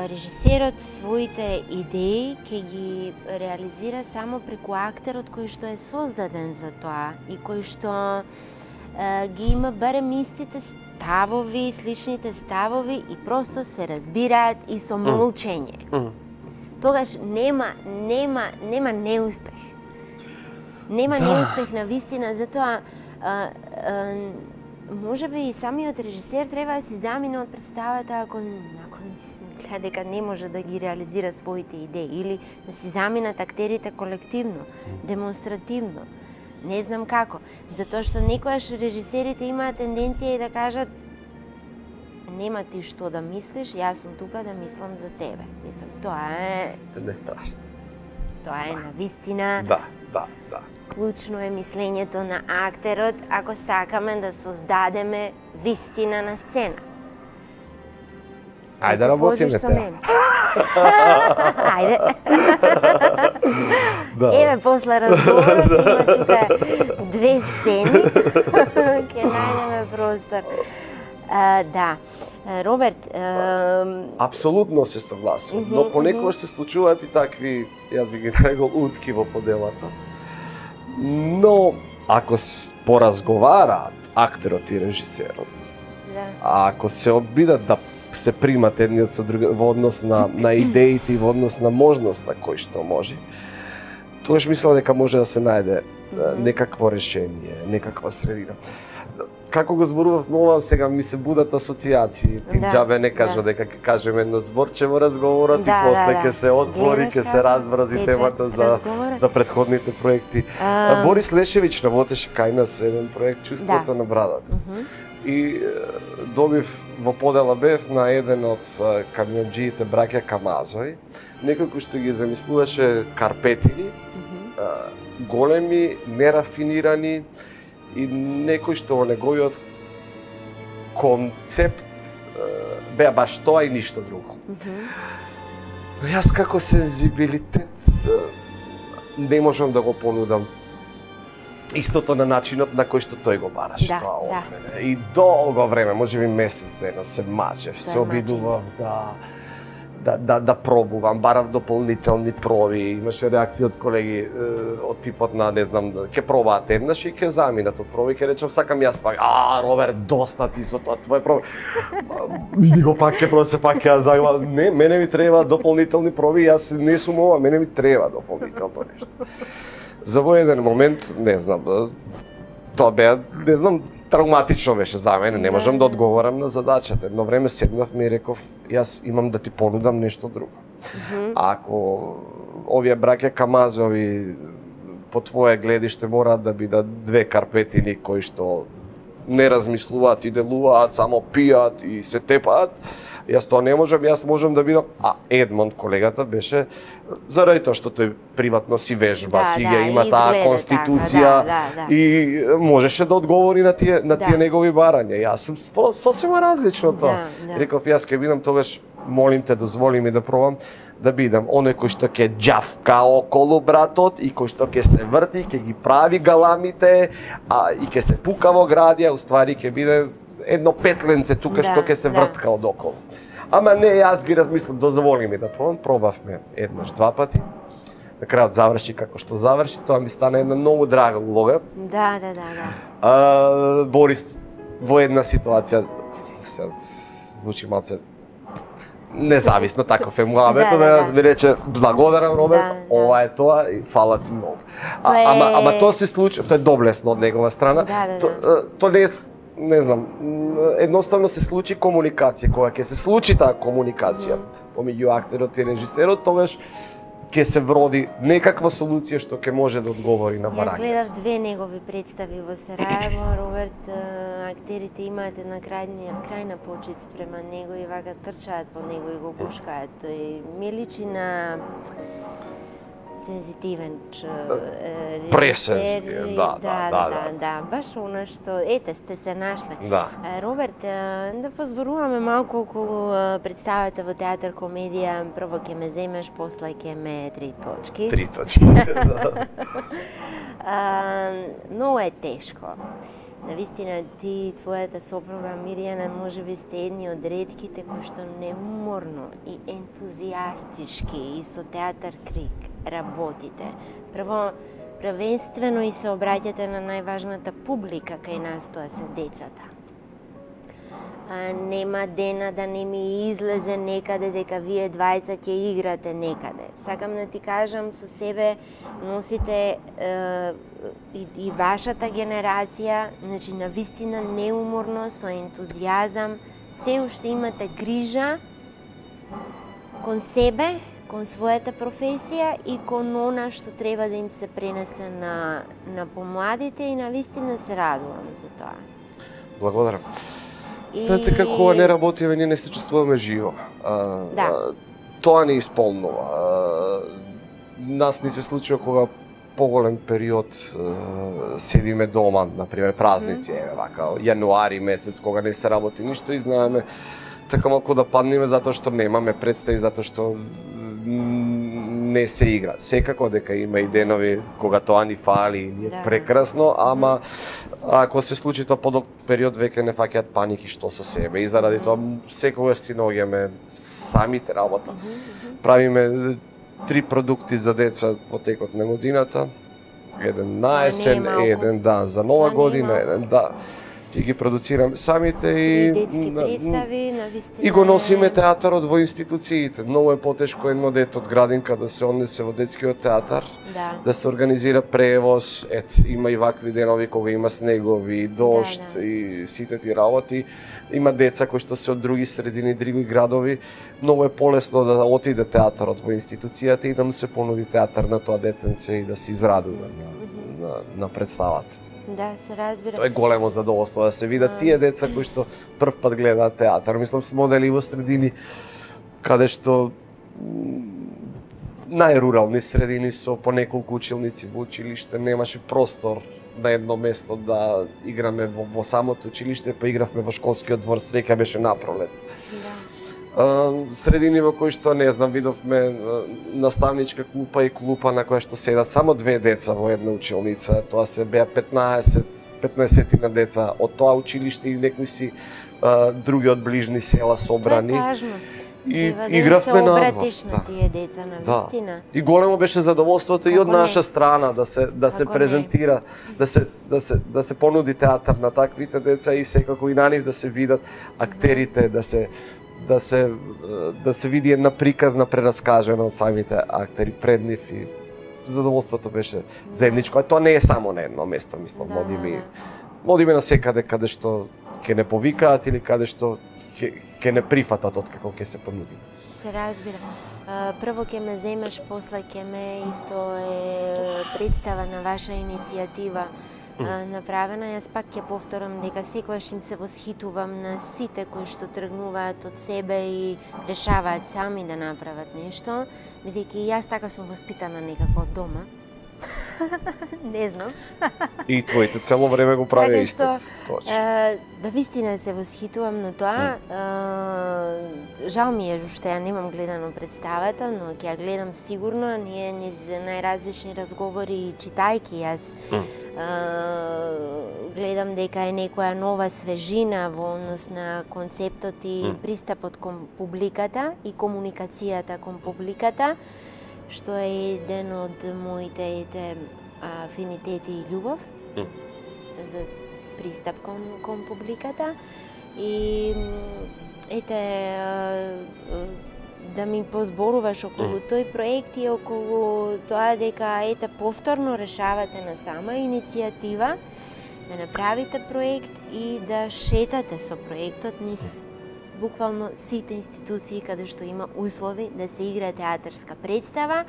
режисерот своите идеи ќе ги реализира само преку актерот кој што е создаден за тоа и кој што е, ги има барем истите ставови, сличните ставови и просто се разбираат и со молчење. Mm. Тогаш нема, нема, нема неуспех. Нема да. неуспех на вистина, затоа а, а, може би и самиот режисер треба да си замине од представата ако, ако гледа дека не може да ги реализира своите идеи или да си заминат актерите колективно, демонстративно. Не знам како, затоа што некојаш режисерите имаат тенденција и да кажат нема ти што да мислиш, јас сум тука да мислам за тебе. Мислам, тоа е... Тоа не е страшно. Тоа е на вистина. Да, да, да. Клучно е мислењето на актерот ако сакаме да создадеме вистина на сцена. Ајде да работиме теа. Ајде. Да. Еве после разговорот има тука две сцени. Ќе најдеме простор. Uh, да. Роберт... Uh... Апсолутно се согласувам, uh -huh, но понекогаш uh -huh. се случуваат и такви, јас би ги нарекол, утки во поделата. Но, ако поразговараат актерот и режисерот, да. ако се обидат да се примат едниот со други во однос на, на идеите и во однос на можноста кој што може, тогаш мислам дека може да се најде mm -hmm. некакво решение, некаква средина. Како го зборував ова, сега ми се будат асоциации. Ти да, џабе не кажа да. дека ќе кажеме едно зборче во разговорот да, и после ќе да, да. се отвори, ќе се разврази темата за, за предходните проекти. А... Борис Лешевич работеше кај нас еден проект Чувството да. на брадата. Mm -hmm. И добив во подела бев на еден од камионџиите браќа Камазој, некој кој што ги замислуваше карпетини, mm -hmm. големи, нерафинирани, и некој што во неговиот концепт беа баш тоа и ништо друго. Mm -hmm. Но јас како сензибилитет не можам да го понудам истото на начинот на кој што тој го бараше да, тоа од да. мене. И долго време, можеби месец дена се мачев, се, се обидував да да да да пробувам, барав дополнителни проби, имаше реакции од колеги од типот на не знам, ќе пробаат еднаш и ќе заминат од проби, ќе речам сакам јас пак, а Роберт, доста ти со тоа твој проби. Види го пак ќе просе пак ќе загла, не, мене ми треба дополнителни проби, јас не сум ова, мене ми треба дополнително нешто. За во еден момент, не знам, тоа беа, не знам, травматично беше за мене, не можам да одговорам на задачата. Едно време седнавме и реков, јас имам да ти понудам нешто друго. Mm -hmm. Ако овие браќа Камазови по твое гледиште мораат да бидат две карпетини кои што не размислуваат и делуваат, само пијат и се тепаат, јас тоа не можам, јас можам да бидам, а Едмонд колегата беше заради тоа што тој приватно си вежба, да, си да, има таа конституција така, да, да, да. И можеше да одговори на тие на тие да. негови барања. Јас сум сосема различно тоа. Да, да. Реков јас ќе бидам тогаш, молим те, дозволи ми да пробам да бидам оној кој што ќе џавка околу братот и кој што ќе се врти, ќе ги прави галамите, а и ќе се пука во градија, уствари ќе биде едно петленце тука да, што ќе се вртка да. од околу. Ама не, јас ги размислам, дозволи ми да пробам, пробавме еднаш, два пати. На крајот заврши како што заврши, тоа ми стана една многу драга улога. Да, да, да, да. А, Борис во една ситуација, се звучи малце независно, таков е муабето, да, да, да ми рече благодарам Роберт, да, ова да. е тоа и фала ти многу. А, е... ама, ама тоа се случи, тоа е доблесно од негова страна, да, да, да. То, то не е, не знам, едноставно се случи комуникација. Кога ќе се случи таа комуникација mm. помеѓу актерот и режисерот, тогаш ќе се вроди некаква солуција што ќе може да одговори на барањето. Јас гледав две негови представи во Сараево. Роберт, актерите имаат една крајна, крајна почит спрема него и вака трчаат по него и го гушкаат. Тој ми личи на сензитивен режисер. Пресензитивен, да, да, да, да, да, баш она што, ете, сте се нашле. Да. Роберт, да позборуваме малку околу представата во театар комедија. Прво ќе ме земеш, после ќе ме три точки. Три точки, да. Многу е тешко. Навистина, ти и твојата сопруга Мирјана можеби сте едни од ретките кои што неуморно и ентузијастички и со театар Крик работите. Прво, првенствено и се обраќате на најважната публика кај нас, тоа се децата. нема дена да не ми излезе некаде дека вие двајца ќе играте некаде. Сакам да ти кажам, со себе носите е, и, и вашата генерација, значи на вистина неуморно, со ентузијазам, се уште имате грижа кон себе, кон својата професија и кон она што треба да им се пренесе на, на помладите и на вистина се радувам за тоа. Благодарам. И... Знаете како не работиме, ние не се чувствуваме живо. А, да. а, тоа не исполнува. А, нас ни се случува кога поголем период а, седиме дома, например празници, mm. еве вака, јануари месец кога не се работи ништо и знаеме така малку да паднеме затоа што немаме представи, затоа што не се игра. Секако дека има и денови кога тоа ни фали и е да. прекрасно, ама ако се случи тоа подолг период веќе не фаќаат паники што со себе и заради тоа секогаш си наоѓаме самите работа. Правиме три продукти за деца во текот на годината. Еден на есен, еден да за нова година, еден да и ги продуцираме самите и детски представи на вистина. И го носиме театарот во институциите. Многу е потешко едно дете од градинка да се однесе во детскиот театар, да, да се организира превоз, ет, има и вакви денови кога има снегови, дожд да, да. и сите ти работи. Има деца кои што се од други средини, други градови. Многу е полесно да отиде театарот во институцијата и да му се понуди театар на тоа детенце и да се израдува на, на, на представата. Да, се разбира. Тоа е големо задоволство да се видат тие деца кои што прв пат гледаат театар. Мислам, сме одели во средини каде што најрурални средини со по неколку училници во училиште, немаше простор на едно место да играме во, во самото училиште, па игравме во школскиот двор, среќа беше напролет. Да. Средини во кои што, не знам, видовме наставничка клупа и клупа на која што седат само две деца во една училница. Тоа се беа петнаесет петнаесет на деца од тоа училиште и некои си а, други од ближни села собрани. Тоа е важно. И да игравме на обратиш на тие деца на вистина. Да. И големо беше задоволството како и од наша не? страна да се да како се презентира, не? да се да се да се понуди театар на таквите деца и секако и на нив да се видат актерите, да, да се да се да се види една приказна прераскажена од самите актери пред нив и задоволството беше заедничко. А тоа не е само на едно место, мислам, да, одиме да. одиме на секаде каде што ќе не повикаат или каде што ќе ќе не прифатат откако ќе се понуди. Се разбира. Прво ќе ме земеш, после ќе ме исто е представа на ваша иницијатива направена. Јас пак ќе повторам дека секогаш им се восхитувам на сите кои што тргнуваат од себе и решаваат сами да направат нешто, бидејќи јас така сум воспитана некако од дома. Не знам. И твоите цело време го прави исто. Да вистина се восхитувам на тоа. Mm. Жал ми е што ја немам гледано представата, но ќе ја гледам сигурно. Ние низ најразлични разговори читајки јас mm. гледам дека е некоја нова свежина во однос на концептот и mm. пристапот кон публиката и комуникацијата кон публиката, што е еден од моите ете, афинитети и љубов mm. за пристап кон, кон публиката. И ете, да ми позборуваш околу mm. тој проект и околу тоа дека ете повторно решавате на сама иницијатива да направите проект и да шетате со проектот низ буквално сите институции каде што има услови да се игра театарска представа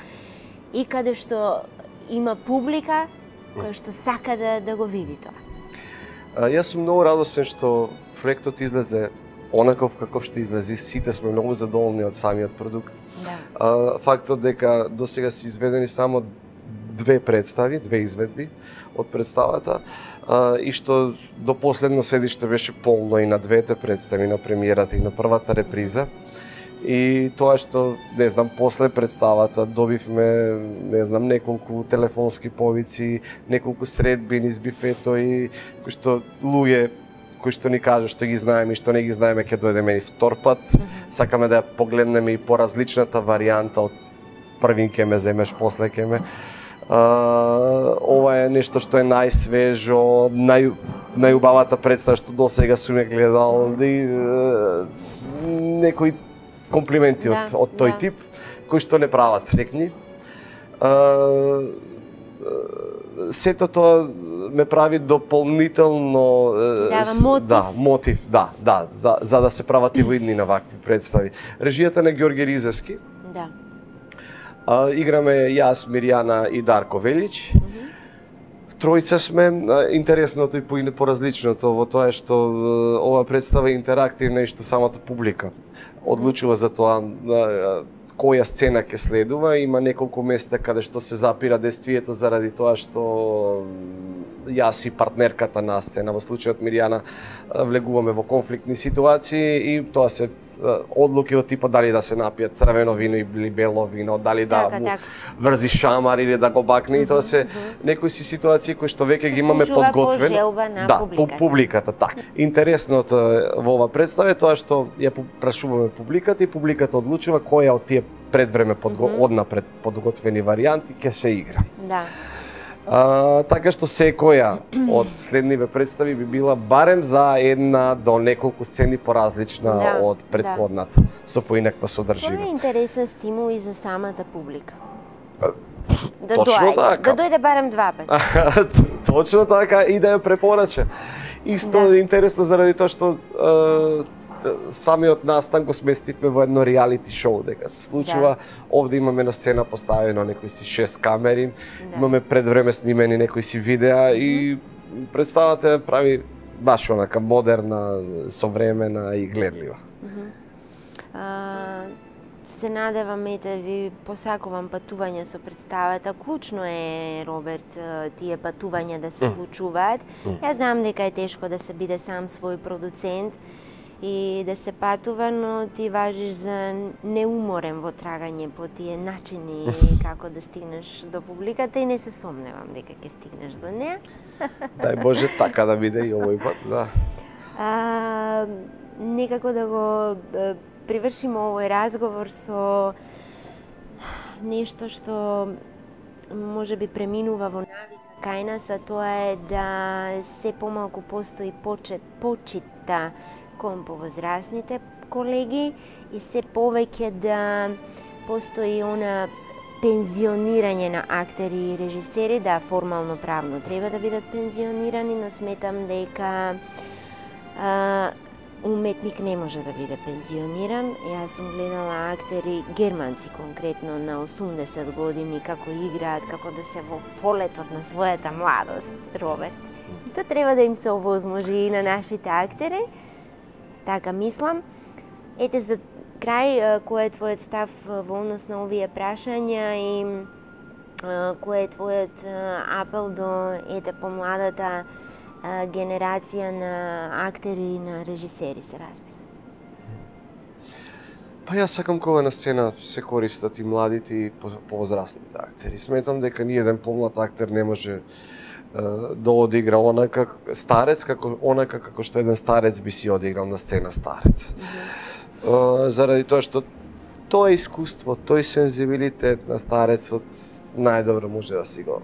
и каде што има публика која што сака да, да го види тоа. А, јас сум многу радосен што проектот излезе онаков каков што излезе. Сите сме многу задоволни од самиот продукт. Да. А, фактот дека досега се изведени само две представи, две изведби од представата, а, и што до последно седиште беше полно и на двете представи, на премиерата и на првата реприза. И тоа што, не знам, после представата добивме, не знам, неколку телефонски повици, неколку средби низ бифето и кои што луѓе кои што ни кажа што ги знаеме и што не ги знаеме ќе дојдеме и втор пат. Mm-hmm. Сакаме да ја погледнеме и поразличната варијанта од првин ке ме земеш, после ке ме. Uh, ова е нешто што е најсвежо, нај, најубавата представа што досега сум ја гледал, и некои комплименти да, од, од тој да. тип, кои што не прават срекни. Сето тоа ме прави дополнително дава мотив. Да, мотив, да, да, за, за да се прават и во иднина вакви представи. Режијата на Ѓорѓе Ризевски. Да. А, играме јас, Мирјана и Дарко Велич. Mm -hmm. Тројца сме. Интересното и по поразличното во тоа е што ова представа е интерактивна и што самата публика одлучува за тоа која сцена ќе следува. Има неколку места каде што се запира действието заради тоа што јас и партнерката на сцена, во случајот Мирјана, влегуваме во конфликтни ситуации и тоа се одлуки од типа дали да се напијат црвено вино или бело вино, дали да така, му така. врзи шамар или да го бакне, mm -hmm, и тоа се mm -hmm. некои си ситуации кои што веќе ги имаме подготвени. По желба на да, публиката. публиката, така. Интересното во ова представа е тоа што ја прашуваме публиката и публиката одлучува која од тие предвреме подго... mm -hmm. однапред подготвени варијанти ќе се игра. Да. А, така што секоја од следниве представи би била барем за една до неколку сцени поразлична да, од претходната, да. Со поинаква содржина. Тоа е интересен стимул и за самата публика. Да Точно доаѓа, така. да дојде барем два пати. Точно така, и да ја препорача. Исто да. Интересно заради тоа што е, самиот настан го сместивме во едно реалити шоу, дека се случува. Да. Овде имаме на сцена поставено некои си шест камери, да. Имаме пред време снимени некои си видеа и представата прави баш онака модерна, современа и гледлива. Mm -hmm. а, се надевам и да ви посакувам патување со представата. Клучно е, Роберт, тие патувања да се случуваат. Mm. Јас знам дека е тешко да се биде сам свој продуцент и да се патува, но ти важиш за неуморен во трагање по тие начини како да стигнеш до публиката и не се сомневам дека ќе стигнеш до неа. Дај Боже така да биде и овој пат, да. А, некако да го привршиме овој разговор со нешто што може би преминува во навика кај нас, а тоа е да се помалку постои почет, почита кон повозрасните колеги и се повеќе да постои она пензионирање на актери и режисери, да, формално правно треба да бидат пензионирани, но сметам дека а, уметник не може да биде пензиониран. Јас сум гледала актери, германци конкретно, на осумдесет години, како играат, како да се во полетот на својата младост, Роберт. Тоа треба да им се овозможи и на нашите актери. Така мислам. Ете, за крај, кој е твојот став во однос на овие прашања и кој е твојот апел до ете помладата генерација на актери и на режисери, се разбира? Па јас сакам кога на сцена се користат и младите и повозрасните актери. Сметам дека ни еден помлад актер не може да одигра онака старец како онака како што еден старец би си одиграл на сцена старец. Mm -hmm. Заради тоа што тоа искуство, тој сензибилитет на старецот најдобро може да си го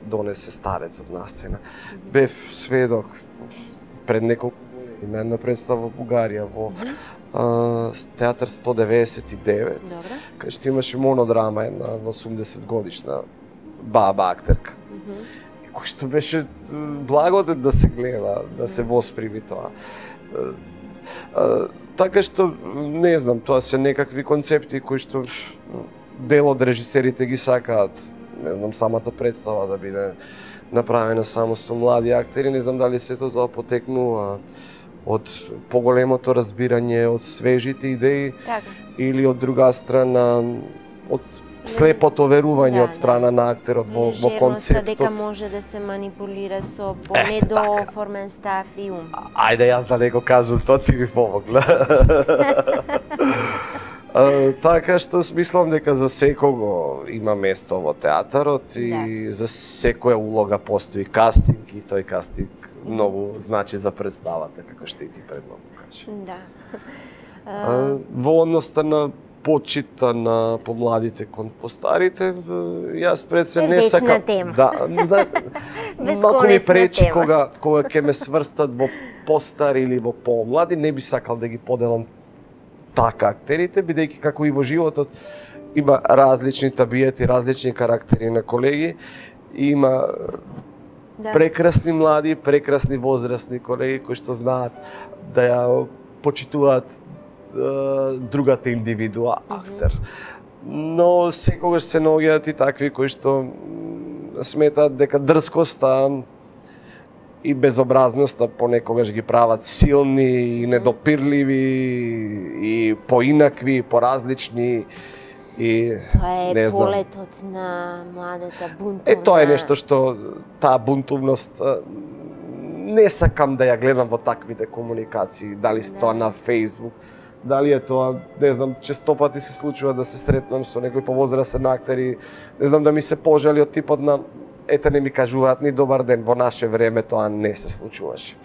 донесе старецот на сцена. Mm -hmm. Бев сведок пред неколку години на една представа во Бугарија во mm -hmm. театар сто деветдесет и девет, кај што имаше монодрама една осумдесет годишна баба актерка. Mm -hmm. Кој што беше благодет да се гледа, да се восприми тоа. Така што, не знам, тоа се некакви концепти кои што дел од режисерите ги сакаат. Не знам, самата представа да биде направена само со млади актери. Не знам дали сето тоа потекнува од поголемото разбирање, од свежите идеи, така, или од друга страна, од слепото верување да, од страна да. на актерот во, во концептот. Дека може да се манипулира со понедооформен став и ум. Ајде, јас да не го кажам, тоа ти ви помогла. Uh, така што смислам дека за секого има место во театарот и да. За секоја улога постои кастинг и тој кастинг многу значи за представата, како што и ти предно кажа. Да. Uh, во односта на почита на помладите кон постарите, јас пред се не Вечна сакам тема. да, да малку ми пречи тема. кога кога ќе ме сврстат во постари или во помлади, не би сакал да ги поделам така актерите, бидејќи како и во животот има различни табиети, различни карактери на колеги, има Да. прекрасни млади, прекрасни возрастни колеги кои што знаат да ја почитуваат е, другата индивидуа актер. Но секогаш се наоѓаат и такви кои што м, сметаат дека дрскоста и безобразноста понекогаш ги прават силни и недопирливи и поинакви, поразлични и Тоа е не знам. полетот на младата бунтовна. Е, тоа е нешто што таа бунтовност а, не сакам да ја гледам во таквите комуникации, дали се Да. тоа на Facebook, дали е тоа, не знам, често пати се случува да се сретнам со некој повозрасен актер и не знам да ми се пожали од типот на ете не ми кажуваат ни добар ден, во наше време тоа не се случуваше.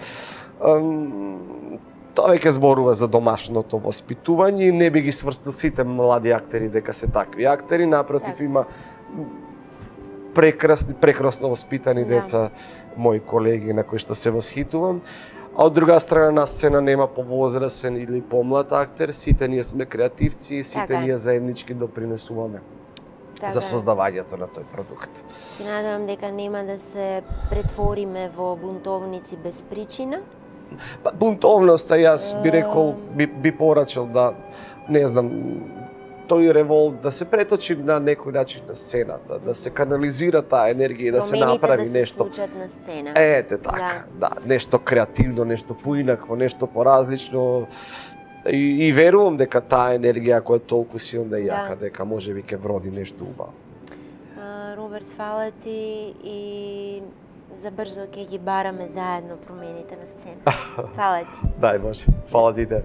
Ам, Тоа веќе зборува за домашното воспитување и не би ги сврстил сите млади актери дека се такви актери, напротив Така. има прекрасни, прекрасно воспитани Да. деца, мои колеги на кои што се восхитувам. А од друга страна на сцена нема повозрасен или помлад актер, сите ние сме креативци и сите Така е. ние заеднички допринесуваме Така за е. создавањето на тој продукт. Се надевам дека нема да се претвориме во бунтовници без причина. Па, бунтовноста, јас би рекол, би, би порачал да, не знам, тој револт да се преточи на некој начин на сцената, да се канализира таа енергија и да се Промените направи да се нешто. случат на сцена. Ете така, да. да, нешто креативно, нешто поинакво, нешто поразлично. И, и верувам дека таа енергија која е толку силна и јака, Да. дека можеби ќе вроди нешто убаво. А, Роберт, фала ти и за брзо ќе ги бараме заедно промените на сцена. Фала ти. Дај Боже, фала ти тебе.